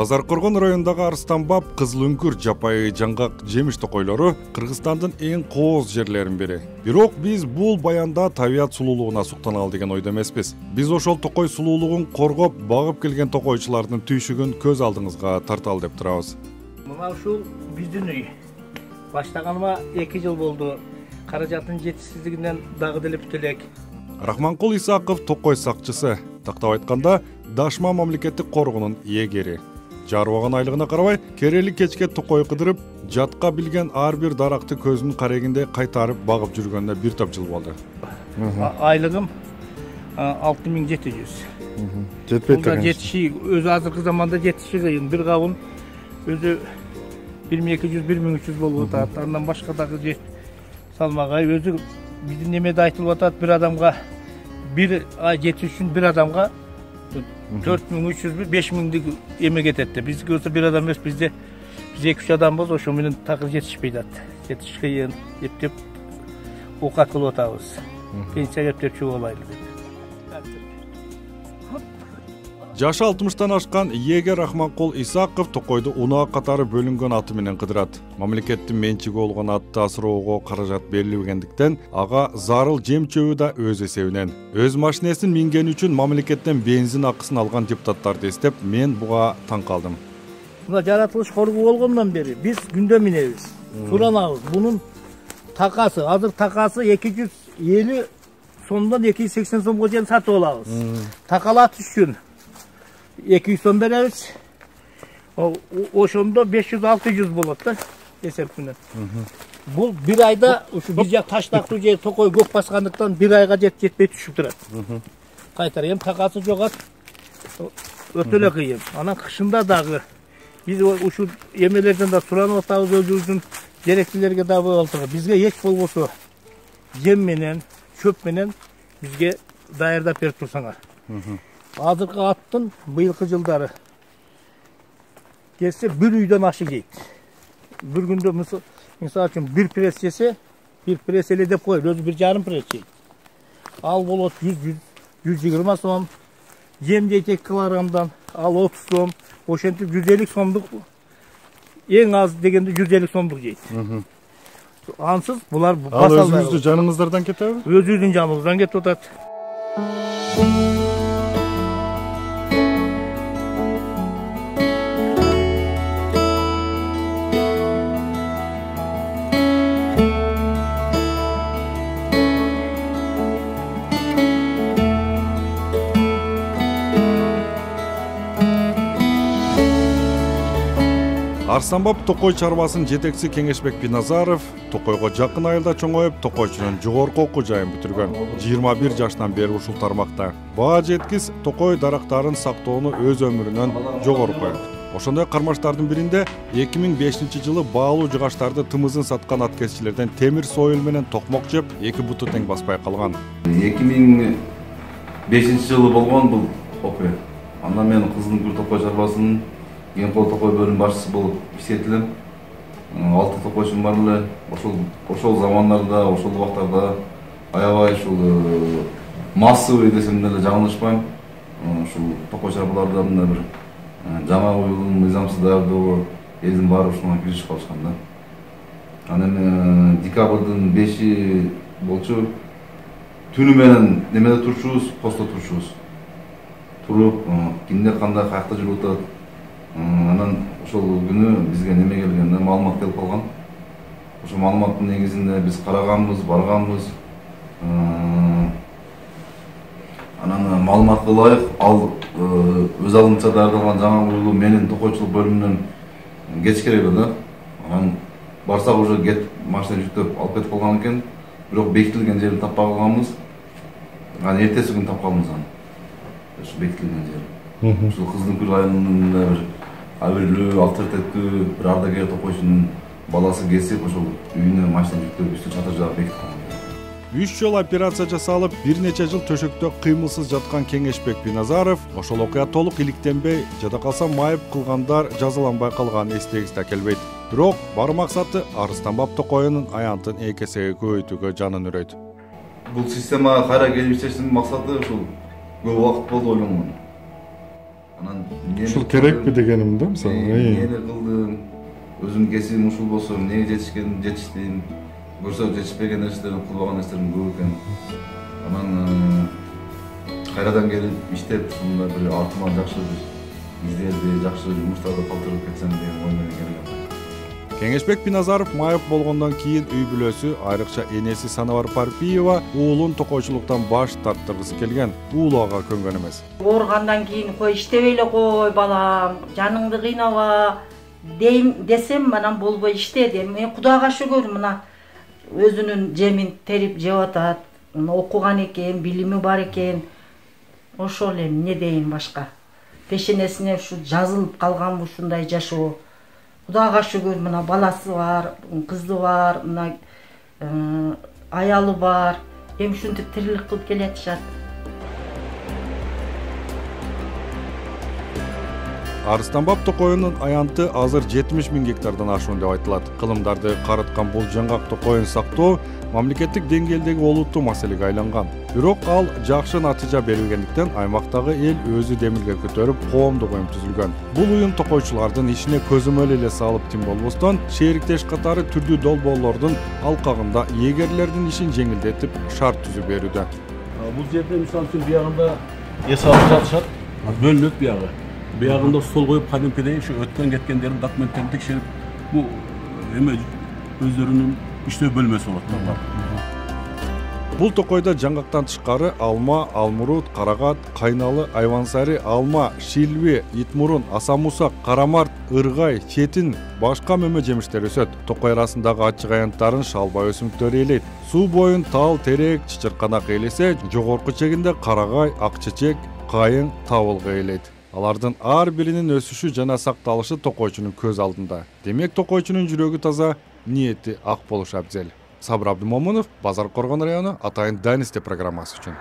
Базар Коргон районундагы Арстанбап, Кызыл үңкүр, жапайы жаңгак жемиш токойлору Кыргызстандын эң кооз жерлеринин бири. Бирок биз бул баянда табият сулуулугуна суктаналы деген ойдо эмеспиз. Биз ошол токой сулуулугун коргоп, багып келген токойчулардын түйшүгүн көз алдыңызга тарталы деп турабыз. Мына ушул биздин үй. Баштаганыма 2 жыл болду. Каражаттын жетишсиздигинен дагы деле бүт элек. Рахманкул Исаков токой сакчысы, тактап айтканда Дашма мамлекеттик коргоонун ээлери. Жарбаган айлыгына карабай, керели кечке токой кыдырып, жатка билген ар бир даракты көзүнүн карегинде кайтарып багып жүргөнүнө бир топ жыл болду. Айлыгым 6700. Жетпейт экен. Жетиши өзү азыркы заманда жетиши кыйын. Бир кабын өзү 1200-1300 болуп атат. Андан башка дагы салмагай өзү биздин немеде айтылып атат, бир адамга бир ай жетиш үчүн бир адамга 4300-5000 эме кетет деп. Бизге болсо бир адам эмес, бизде биз 2-3 адамбыз, ошо менен такыр жетишпей атат. Жетиш кыйын, эптеп оокат кылып атабыз. Пенсияга эптеп чыгып алайлы деп. Жашы 60-тан ашкан ээлер Рахманкул Исаков токойду унаа катары бөлүнгөн аты менен кыдырат. Мамлекеттин менчиги болгон атты асыроого каражат берилбегендиктен ага зарыл жем чөбү да өз эсебинен. Өз машинесин мингени үчүн мамлекеттен бензин акысын алган депутаттарды эстеп, мен буга таң калдым. Мына жаратылыш коргоо болгондон бери биз күндө минебиз. Суранабыз. Бунун такасы, азыр такасы 250 сомдон 280 сомго чейин сатып алабыз. Такалатыш үчүн 200 сом беребиз. Ошондо 500-600 болот да эсеп менен. Бул бир айда ушу биз жак Таштактуу же токой көп баскандыктан бир айга жетпей түшүп турат. Кайтар эми такасы жогат. Өтө эле кыйын. Анан кышында дагы биз ушул эмелерден да суранып атабыз, өзүбүздүн жеректилерге да болсо, бизге эч болбосо жем менен, чөп менен бизге даярдап берип турсаңар. Азыркы аттын быйылкы жылдары келсе бир үйдөн ашы жейт. Бир күндө мисалы үчүн бир пресс жесе, бир пресс эле деп коет, өзү 1,5 пресс жейт. Ал болот 100-120 сом, жем жейт 2 килограммдан, ал 30 сом, ошентип 150 сомдук, эң аз дегенде 150 сомдук жейт. Ансыз булар басалбай. Ал өзүңүздүн жаныңыздардан кетеби? Өзүбүздүн жаныбыздан кетип атат. Арстанбап токой чарбасынын жетекчиси Кеңешбек Биназаров токойго жакын айылда чоңоюп, токойчунун жогорку окуу жайын бүтүргөн. 21 жаштан бери ушул тармакта. Баа жеткис токой дарактарын сактоону өз өмүрүнөн жогору коет. Ошондой кармаштардын биринде 2005-жылы баалуу жыгачтарды тымызын саткан аткезчилерден темир сойыл менен токмок жеп, 2 буту тең баспай калган. 2005-жылы болгон бул окуя. Анда мен Кызыл үңкүр токой чарбасынын Ген кол токой бөлүм башчысы болуп иштетилем. 6 токойчум бар эле. Ошол замандарда, ошол убактарда аябай ушул массовый десем деле жаңылышпайм. Ушул токой чарбалардан да бир жаңа уюлдун мыйзамсыз даярдоого элдин баары ушуга киришип калышкан да. Анан декабрдын 5-и болчу. Түнү менен немеде турчубуз, посто турчубуз. Туруп, кимде кандай каякта жүрүп атат. Анан ошол күнү бизге неме келген, маалымат келип калган. Ошол маалыматтын негизинде биз караганбыз, барганбыз. Анан маалыматка ылайык ал өз алдынча даярдалган жаңа уюлу менин токойчулук бөлүмүнөн кетиш керек эле да. Анан барсак уже машина жүктөп алып кетип калган экен. Бирок бекитилген жерин таппай калганбыз. Анан эртеси күнү тапканбыз аны. Ошо бекитилген жери. Ушул Кызыл үңкүр районунун бир абырлуу, авторитеттүү бир ардагер токойчунун баласы кесип, ошол үйүнө машина жүктөп, үстү чатыр жаап бекитип калган. 3 жолу операция жасалып, бир нече жыл төшөктө кыймылсыз жаткан Кеңешбек Биназаров ошол окуя толук иликтенбей, жада калса майып кылгандар жазаланбай калганын эстегисине келбейт. Бирок бар максаты Арстанбап токойунун аянтын 2 эсеге көбөйтүүгө жанын үрөйт. Бул система кайра келип иштештин максаты ушул көп убакыт болду ойлонгон. Анан ушул керекпи дегеним да, мисалы. Эмне кылдым? Өзүм кесибим ушул болсо эмнеге жетиштим? Көрсө жетишпеген нерселерди кылбаган нерселерим көп экен. Анан кайрадан келип иштеп, ушундай бир артыма жакшы издерди, жакшы жумуштарды калтырып кетсем деген ой менен келгем. Кеңешбек Биназаров майып болгондон кийин үй бүлөсү, айрыкча энеси Санабар Парпиева уулун токойчулуктан баш тарттыргысы келген. Уулу ага көнгөн эмес. Ооругандан кийин кой иштебей эле кой балам, жаныңды кыйнаба дейм десем, анан болбой иштеди. Мен Кудайга шүгүр, мына өзүнүн жемин терип жеп атат. Окуган экен, билими бар экен. Ошол эле эмне дейин башка. Пешенесине ушу жазылып калган ушундай жашоо. Кудайга шүгүр, мына баласы бар, кызы бар, мына аялы бар. Эми ушинтип тирилик кылып келатышат. Арыстанбап токойунун аянты азыр 70 000 гектардан ашуун деп айтылат. Кылымдарды карыткан бул жаңгак токойун сактоо мамлекеттик деңгээлдеги олуттуу маселеге айланган. Бирок ал жакшы натыйжа берилгендиктен аймактагы эл өзү демилге көтөрүп, коомдук уюм түзүлгөн. Бул уюм токойчулардын ишине көзөмөл эле салып тим болбостон, шериктеш катары түрдүү долбоорлордун алкагында эгерлердин ишин жеңилдетип, шарт түзүп берүүдө. Бул жерде мисалы үчүн биягында эс алып жатышат, бөлүнөт биягы. Биягында стол коюп, кадимкидей ушу өткөн кеткендердин документтерин текшерип, бул эме өздөрүнүн иштөө бөлмөсү болот да. Бул токойдо жаңгактан тышкары алма, алмурут, карагат, кайналы, айвансари, алма, шилби, итмурун, асамусак, карамарт, ыргай, четин, башка мөмө жемиштер өсөт. Токой арасындагы ачык аянттарын шалбай өсүмдүктөр ээлейт. Суу боюн тал, терек, чычырканак ээлесе, жогорку чегинде карагай, ак чечек, кайың, табылгы ээлейт. Алардын ар биринин өсүшү жана сакталышы токойчунун көз алдында. Демек токойчунун жүрөгү таза, ниети ак болушу абзел. Сабыр Абдымомунов, Базар Коргон району, Атайын Дайнести программасы үчүн.